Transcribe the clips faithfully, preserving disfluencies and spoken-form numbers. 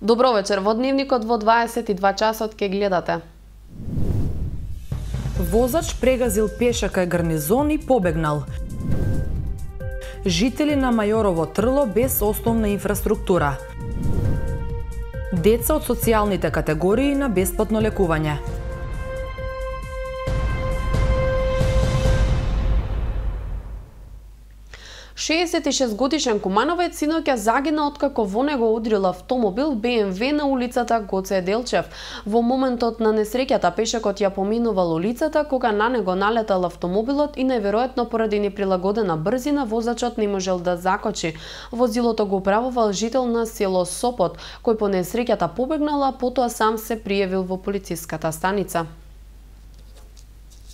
Добро вечер, во дневникот во дваесет и два часот ке гледате. Возач прегазил пеша кај гарнизон и побегнал. Жители на Мајорово Трло без основна инфраструктура. Деца од социјалните категории на бесплатно лекување. шеесет и шест годишен кумановец синоќа загина откако во него удрил автомобил Б М В на улицата Гоце Делчев. Во моментот на несреќата пешекот ја поминувал улицата кога на него налетал автомобилот и најверојатно поради неприлагодена брзина возачот не можел да закочи. Возилото го управувал жител на село Сопот, кој по несреќата побегнал, а потоа сам се пријавил во полициската станица.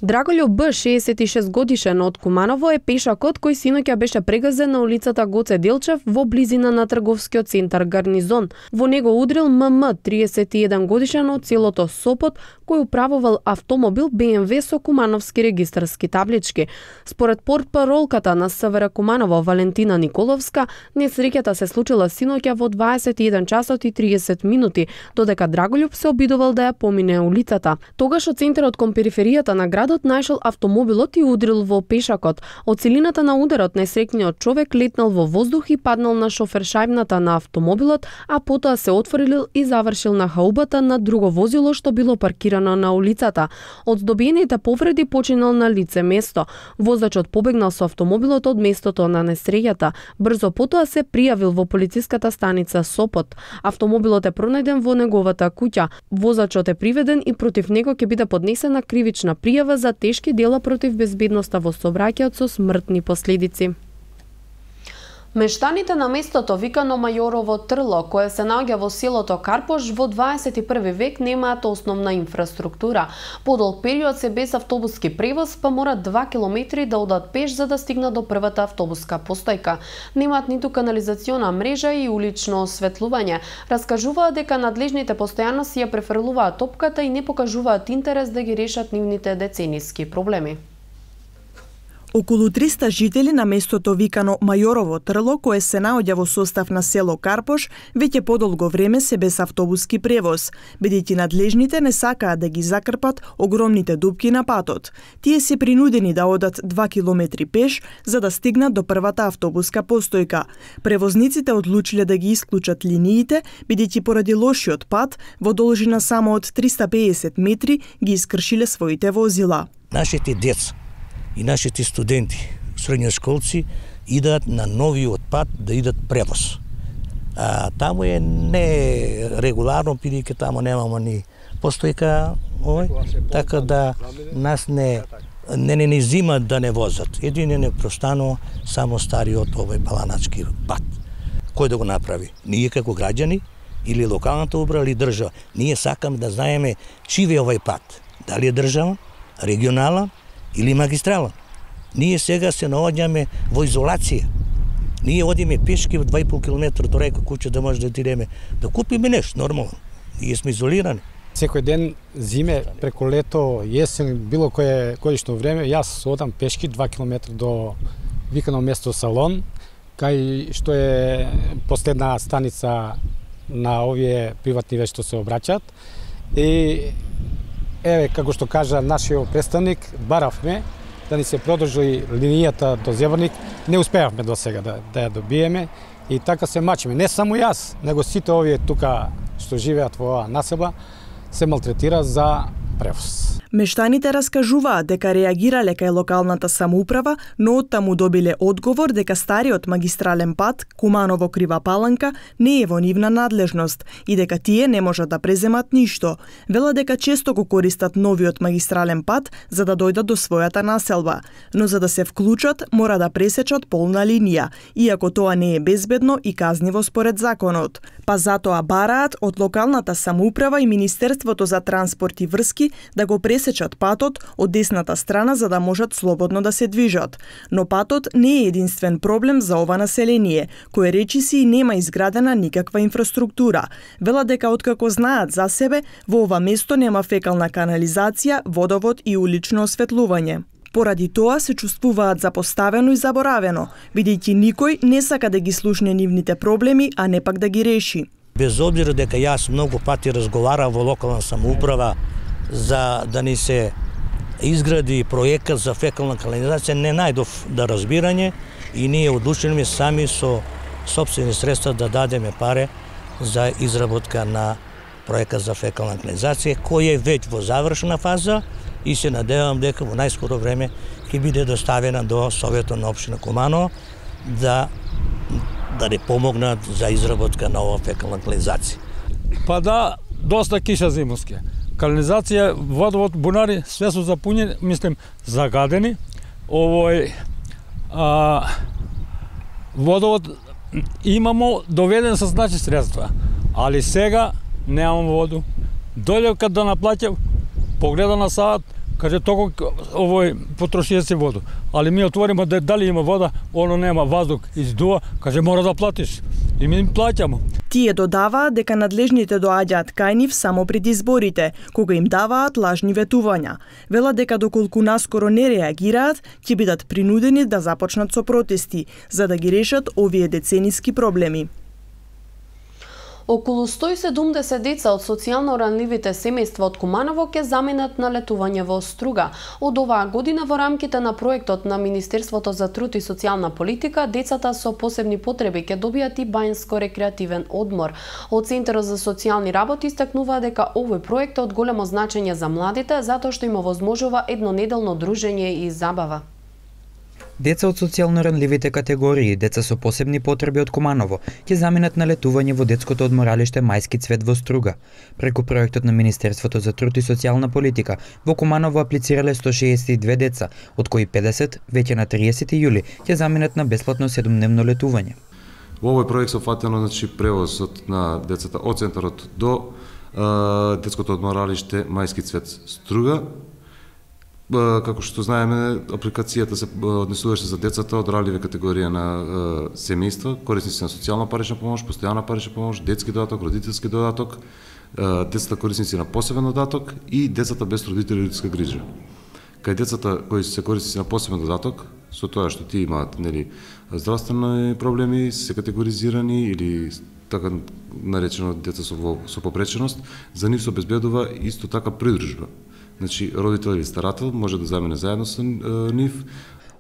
Драголјо Б, шеесет и шест годишен од Куманово, е пешакот кој синоќа беше прегазен на улицата Гоце Делчев во близина на трговскиот центар Гарнизон. Во него удрил М М, триесет и еден годишен од селото Сопот, кој управувал автомобил Б М В со кумановски регистарски таблички. Според портпаролката на С В Р Куманово Валентина Николовска, несреќата се случила синоќа во дваесет и еден часот и триесет минути, додека Драголјуб се обидувал да ја помине улицата. Тогаш од центарот кон периферијата на градот најшол автомобилот и удрил во пешакот. Од силината на ударот несреќниот човек летнал во воздух и паднал на шофершајбната на автомобилот, а потоа се отворил и завршил на хаубата на друго возило што било паркирано на улицата. Од здобиените повреди починал на лице место. Возачот побегнал со автомобилот од местото на несреќата. Брзо потоа се пријавил во полициската станица Сопот. Автомобилот е пронајден во неговата куќа. Возачот е приведен и против него ќе биде поднесена кривична пријава за тешки дела против безбедноста во сообраќајот со смртни последици. Мештаните на местото викано Мајорово Трло, кое се наоѓа во селото Карпош, во дваесет и први век немаат основна инфраструктура. Подолг период се без автобуски превоз, па морат два километри да одат пеш за да стигнат до првата автобуска постојка. Немаат ниту канализациона мрежа и улично осветлување. Раскажуваат дека надлежните постојано си ја префрлуваат топката и не покажуваат интерес да ги решат нивните децениски проблеми. Околу триста жители на местото викано Мајорово Трло, кое се наоѓа во состав на село Карпош, веќе подолго време се без автобуски превоз, бидејќи надлежните не сакаат да ги закрпат огромните дупки на патот. Тие се принудени да одат два километри пеш за да стигнат до првата автобуска постојка. Превозниците одлучиле да ги исклучат линиите, бидејќи поради лошиот пат, во должина само од триста пеесет метри ги искршиле своите возила. Нашите деца и нашите студенти, средњошколци, идат на новиот пат да идат превоз. А таму е не регуларно, бидејќи таму немаме ни постојка, овој, така да нас не не не, не зимат да не возат. Едине не простанува само стариот овој паланачки пат. Кој да го направи? Ние како граѓани или локалната управа или држава. Ние сакаме да знаеме чив е овој пат. Дали е држава, регионална или магистрала. Ние сега се наоѓаме во изолација. Ние одиме пешки во два и пол километра до река куќа да може да отидеме да купиме нешто нормално. Ние сме изолирани. Секој ден, зиме, преку лето, јесен, било кое годишно време, јас одам пешки два километра до викано место Салон, кај што е последна станица на овие приватни веќе што се обраќаат. И еве, како што кажа нашиот представник, баравме да ни се продолжи линијата до Зеборник, не успеавме до сега да, да ја добиеме и така се мачиме. Не само јас, него сите овие тука што живеат во оваа населба се малтретира за превоз. Мештаните раскажуваат дека реагирале кај локалната самоуправа, но оттаму добиле одговор дека стариот магистрален пат Куманово Крива Паланка не е во нивна надлежност и дека тие не можат да преземат ништо. Вела дека често го користат новиот магистрален пат за да дојдат до својата населба, но за да се вклучат мора да пресечат полна линија, иако тоа не е безбедно и казниво според законот. Па затоа бараат од локалната самоуправа и Министерството за транспорт и врски да го пресечат патот од десната страна за да можат слободно да се движат. Но патот не е единствен проблем за ова население, кое речиси нема изградена никаква инфраструктура. Вела дека откако знаат за себе, во ова место нема фекална канализација, водовод и улично осветлување. Поради тоа се чувствуваат запоставено и заборавено, бидејќи никој не сака да ги слушне нивните проблеми, а не пак да ги реши. Без обзира дека јас многу пати разговарав во локална самоуправа за да ни се изгради проекат за фекална канализација, не најдов да разбирање и ние одлучилме сами со сопствени средства да дадеме паре за изработка на проекат за фекална канализација, кој е веќе во завршена фаза и се надевам дека во најскоро време ќе биде доставена до Советот на општина Куманово да да не помогнат за изработка на ова фекална канализација. Па да, доста киша зимовски. Канализација, водовод, бунари, све се запуњени, мислим, загадени. Овој а, водовод имамо доведен со значи средства, али сега немам воду. Дојдев кад да наплаќав, погледа на саат, каже толку овој потрошија си воду. Али ми отвориме да дали има вода, оно нема, ваздух издува, каже мора да платиш. И ми плаќамо. Тие додаваат дека надлежните доаѓаат кај нив само пред изборите, кога им даваат лажни ветувања. Велат дека доколку наскоро не реагираат, ќе бидат принудени да започнат со протести, за да ги решат овие децениски проблеми. Околу сто и седумдесет деца од социјално ранливите семејства од Куманово ќе заминат на летување во Струга. Од оваа година во рамките на проектот на Министерството за труд и социјална политика, децата со посебни потреби ќе добијат и бањско-рекреативен одмор. Од Центарот за социјални работи истакнува дека овој проект е од големо значење за младите, затоа што им овозможува еднонеделно дружење и забава. Деца од социјално ранливите категории, деца со посебни потреби од Куманово, ќе заминат на летување во детското одморалиште Мајски цвет во Струга. Преку проектот на Министерството за труд и социјална политика, во Куманово аплицирале сто шеесет и две деца, од кои педесет веќе на триесети јули ќе заминат на бесплатно седумдневно летување. Во овој проект се фатено значи превозот на децата од центарот до е, детското одморалиште Мајски цвет Струга. Како што знаеме, апликацијата се однесуваше за децата од ранливи категорија на е, семејства, корисници на социјална парична помош, постојана парична помош, детски додаток, родителски додаток, е, децата корисници на посебен додаток и децата без родители и родителска грижа. Кај децата кои се корисници на посебен додаток, со тоа што тие имаат нели здравствени проблеми, се категоризирани или така наречено деца со, со попреченост, за нив се обезбедува исто така придружба. Значи, родител или старател може да замине заедно со нив.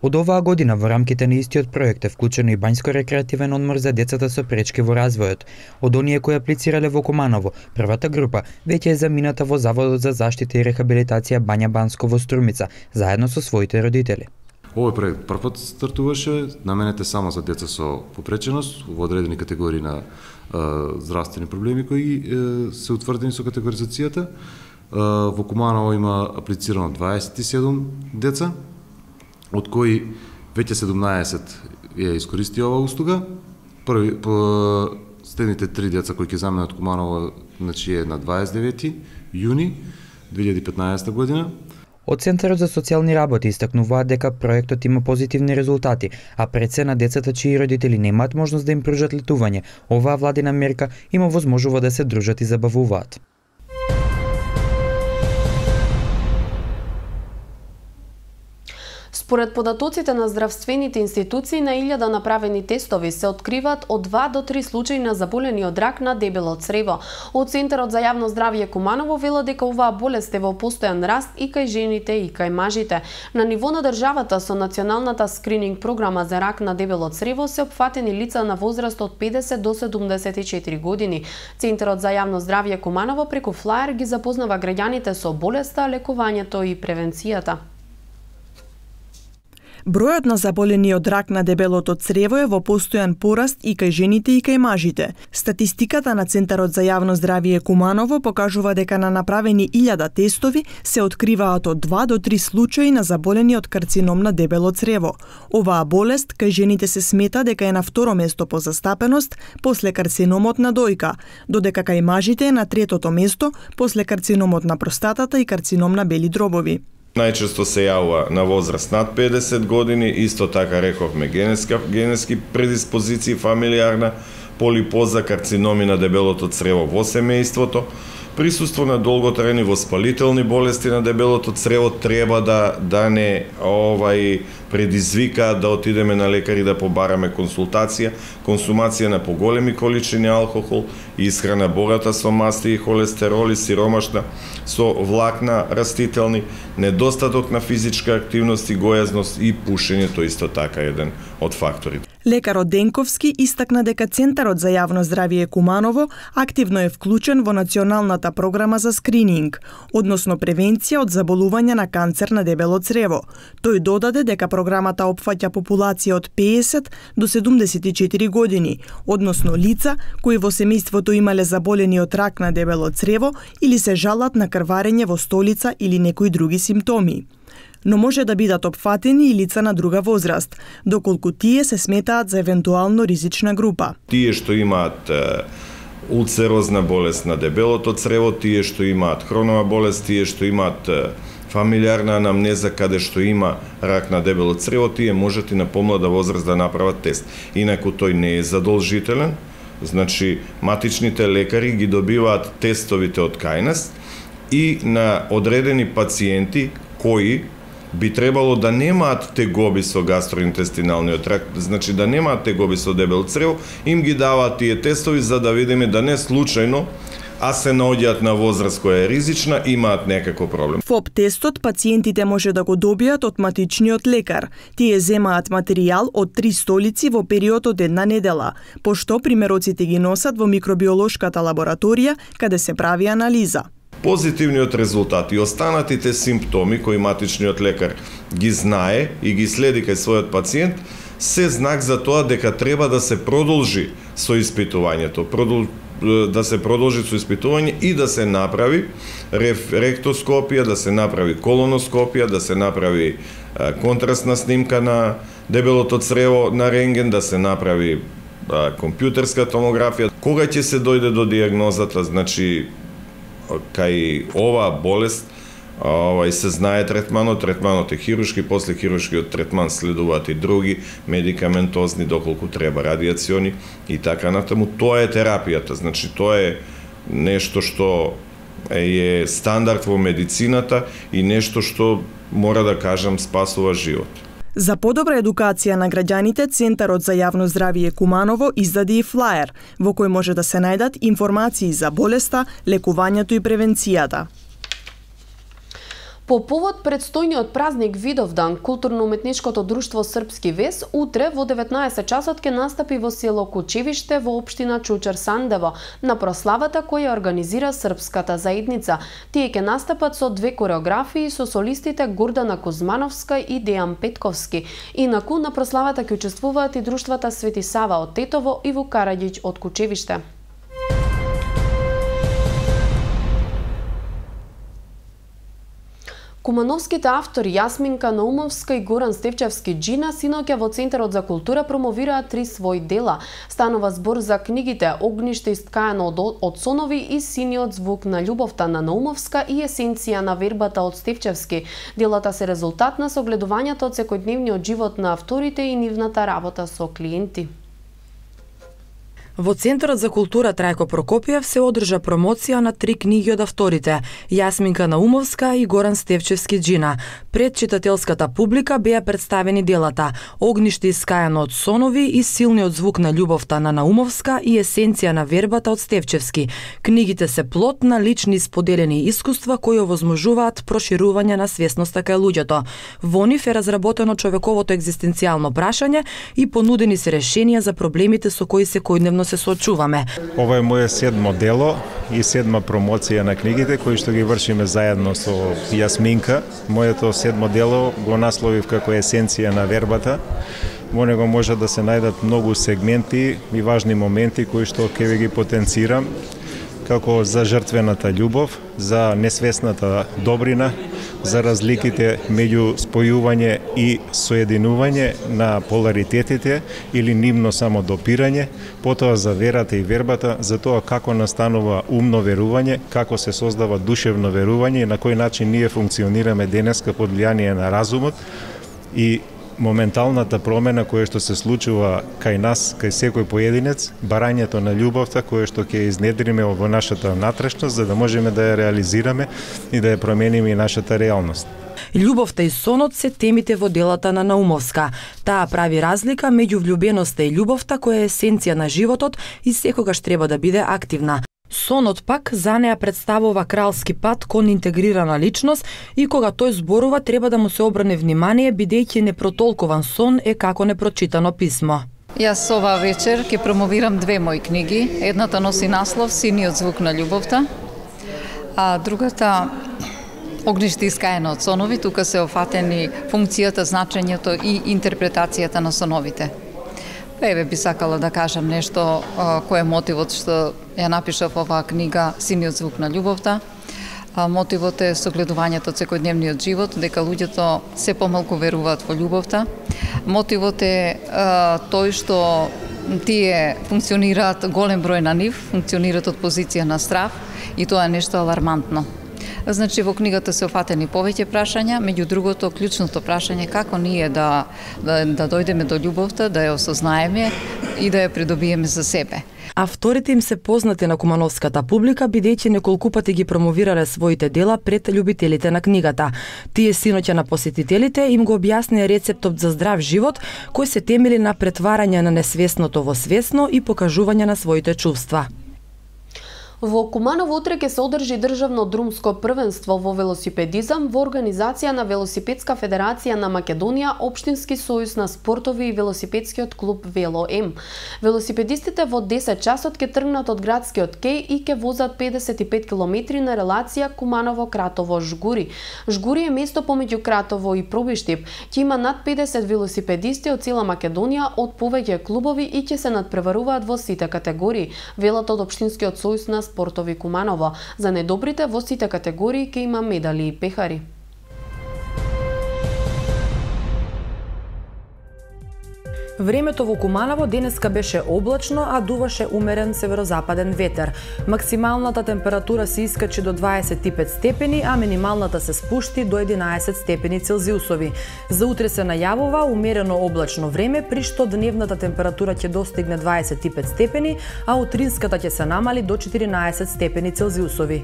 Од оваа година во рамките на истиот проект е вклучено и бањско-рекреативен одмор за децата со пречки во развојот. Од оние кои аплицирале во Куманово, првата група веќе е замината во Заводот за заштита и рехабилитација Бања Банско во Струмица, заедно со своите родители. Овој проект првпат стартуваше, наменет е само за деца со попреченост во одредени категории на е, здравствени проблеми кои е, се утврдени со категоризацијата. Во Куманово има аплицирано дваесет и седум деца, од кои веќе седумнаесет ја искористи оваа услуга. Први, по следните три деца кои ќе заминат од Куманово, значи е на дваесет и девети јуни две илјади и петнаесета година. Од Центарот за социјални работи истакнуваат дека проектот има позитивни резултати, а пред се на децата чии родители немаат можност да им пружат летување, оваа владина мерка им овозможува да се дружат и забавуваат. Според податоците на здравствените институции, на илјада направени тестови се откриваат од два до три случаи на заболени од рак на дебело црево. Од Центарот за јавно здравје Куманово велат дека оваа болест е во постојан раст и кај жените и кај мажите. На ниво на државата со националната скрининг програма за рак на дебело црево се опфатени лица на возраст од педесет до седумдесет и четири години. Центарот за јавно здравје Куманово преку флаер ги запознава граѓаните со болеста, лекувањето и превенцијата. Бројот на заболени од рак на дебелото црево е во постојан пораст и кај жените и кај мажите. Статистиката на Центарот за јавно здравје Куманово покажува дека на направени илјада тестови се откриваат од два до три случаи на заболени од карцином на дебело црево. Оваа болест кај жените се смета дека е на второ место по застапеност после карциномот на дојка, додека кај мажите е на третото место после карциномот на простатата и карцином на бели дробови. Најчесто се јавува на возраст над педесет години, исто така рековме генетски, генетски предиспозиции, фамилиарна полипоза, карциноми на дебелото црево во семејството, присуство на долготрајни воспалителни болести на дебелото црево треба да да не овај предизвика да отидеме на лекар и да побараме консултација, консумација на поголеми количини алкохол, исхрана богата со масти и холестерол и сиромашна со влакна растителни, недостаток на физичка активност и гојазност и пушењето исто така еден од факторите. Лекарот Денковски истакна дека Центарот за јавно здравје Куманово активно е вклучен во националната програма за скрининг, односно превенција од заболување на канцер на дебело црево. Тој додаде дека програмата опфаќа популација од педесет до седумдесет и четири години, односно лица кои во семејството имале заболени од рак на дебело црево или се жалат на крварење во столица или некои други симптоми. Но може да бидат опфатени и лица на друга возраст, доколку тие се сметаат за евентуално ризична група. Тие што имаат улцерозна болест на дебелото црево, тие што имаат хронова болест, тие што имаат фамилиарна анамнеза каде што има рак на дебело црево, тие можат и на помлада возраст да направат тест. Инаку тој не е задолжителен, значи матичните лекари ги добиваат тестовите од кај нас и на одредени пациенти кои би требало да немаат тегоби со гастроинтестиналниот тракт, значи да немаат тегоби со дебело црево, им ги даваат тие тестови за да видиме да не случајно, а се наоѓаат на возраст која е ризична, имаат некако проблем. ФОП тестот пациентите може да го добијат од матичниот лекар. Тие земаат материјал од три столици во период од една недела, пошто примероците ги носат во микробиолошката лабораторија каде се прави анализа. Позитивниот резултат и останатите симптоми кои матичниот лекар ги знае и ги следи кај својот пациент се знак за тоа дека треба да се продолжи со испитувањето, продол... да се продолжи со испитување и да се направи ректоскопија, да се направи колоноскопија, да се направи контрастна снимка на дебелото црево на рентген, да се направи компјутерска томографија. Кога ќе се дојде до дијагнозата, значи кај оваа болест, овај се знае третманот, третманот е хируршки, после хируршкиот третман следуваат и други медикаментозни, доколку треба радиациони и така натаму. Тоа е терапијата, значи тоа е нешто што е стандард во медицината и нешто што, мора да кажам, спасува живот. За подобра едукација на граѓаните, Центарот за јавно здравје Куманово издаде и флаер, во кој може да се најдат информации за болеста, лекувањето и превенцијата. По повод предстојниот празник Видовдан, културно-уметничкото друштво Српски вес утре во деветнаесет часот ќе настапи во село Кучевиште во општина Чучер Сандево на прославата која организира српската заедница. Тие ќе настапат со две кореографии со солистите Гордана Кузмановска и Дејан Петковски. Инаку на прославата ќе учествуваат и друштвата Свети Сава од Тетово и Вук Караѓиќ од Кучевиште. Кумановските автори Јасминка Наумовска и Горан Стефчевски Джина синоќа во Центарот за култура промовираат три своји дела. Станува збор за книгите Огниште искаено од, од сонови и Синиот звук на љубовта на Наумовска и Есенција на вербата од Стефчевски. Делата се резултат на согледувањето од секојдневниот живот на авторите и нивната работа со клиенти. Во Центарот за култура Трајко Прокопиев се одржа промоција на три книги од авторите Јасминка Наумовска и Горан Стефчевски Джина. Пред читателската публика беа представени делата Огниште искаено од сонови и Силниот звук на љубовта на Наумовска и Есенција на вербата од Стефчевски. Книгите се плод на лични споделени искуства кои овозможуваат проширување на свесноста кај луѓето. Во нив е разработено човековото екзистенцијално прашање и понудени се решенија за проблемите со кои секојдневно се соочуваме. Ова е моје седмо дело и седма промоција на книгите кои што ги вршиме заедно со Јасминка. Моето седмо дело го насловив како Есенција на вербата. Во него може да се најдат многу сегменти и важни моменти кои што ќе ви ги потенцирам, како за жртвената љубов, за несвесната добрина, за разликите меѓу спојување и соединување на поларитетите или нивно само допирање, потоа за верата и вербата, за тоа како настанува умно верување, како се создава душевно верување и на кој начин ние функционираме денеска под влијание на разумот и моменталната промена која што се случува кај нас, кај секој поединец, барањето на љубовта која што ќе изнедриме во нашата натрешност за да можеме да ја реализираме и да ја промениме и нашата реалност. Љубовта и сонот се темите во делата на Наумовска. Таа прави разлика меѓу влюбеноста и љубовта која е есенција на животот и секогаш треба да биде активна. Сонот пак за неа представува кралски пат кон интегрирана личност и кога тој зборува треба да му се обране внимание бидејќи непротолкуван сон е како непрочитано писмо. Јас оваа вечер ќе промовирам две мои книги. Едната носи наслов Синиот звук на љубовта, а другата Огниште искаено од сонови. Тука се офатени функцијата, значењето и интерпретацијата на соновите. Еве би сакала да кажам нешто кој е мотивот што ја напишав оваа книга Синиот звук на љубовта. Мотивот е согледувањето од секојдневниот живот, дека луѓето се помалку веруваат во љубовта. Мотивот е тој што тие функционираат, голем број на нив, функционираат од позиција на страв и тоа е нешто алармантно. Значи, во книгата се офатени повеќе прашања, меѓу другото, клучното прашање како ние да, да, да дојдеме до љубовта, да ја осознаеме и да ја придобиеме за себе. Авторите им се познати на кумановската публика, бидејќи неколку пати ги промовирале своите дела пред љубителите на книгата. Тие синоќа на посетителите им го објаснија рецептот за здрав живот, кој се темели на претварање на несвесното во свесно и покажување на своите чувства. Во Куманово утре ќе се одржи државно друмско првенство во велосипедизам во организација на Велосипедска федерација на Македонија, Општински сојуз на спортови и велосипедскиот клуб Вело М. Велосипедистите во десет часот ќе тргнат од градскиот кеј и ќе возат педесет и пет километри на релација Куманово-Кратово-Жгури. Жгури е место помеѓу Кратово и Пробиштип. Ќе има над педесет велосипедисти од цела Македонија од повеќе клубови и ќе се надпреваруваат во сите категории, велат од Општинскиот сојуз на спортови Куманово. За недобрите во сите категории ќе има медали и пехари. Времето во Куманово денеска беше облачно, а дуваше умерен северозападен ветер. Максималната температура се искачи до дваесет и пет степени, а минималната се спушти до единаесет степени Целзиусови. За утре се најавува умерено облачно време, при што дневната температура ќе достигне дваесет и пет степени, а утринската ќе се намали до четиринаесет степени Целзиусови.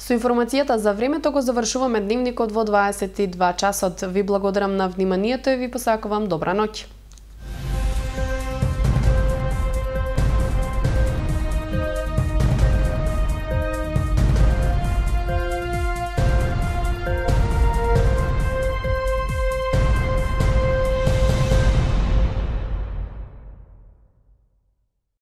Со информацијата за времето го завршуваме дневникот во дваесет и два часот. Ви благодарам на вниманието и ви посакувам добра ноќ.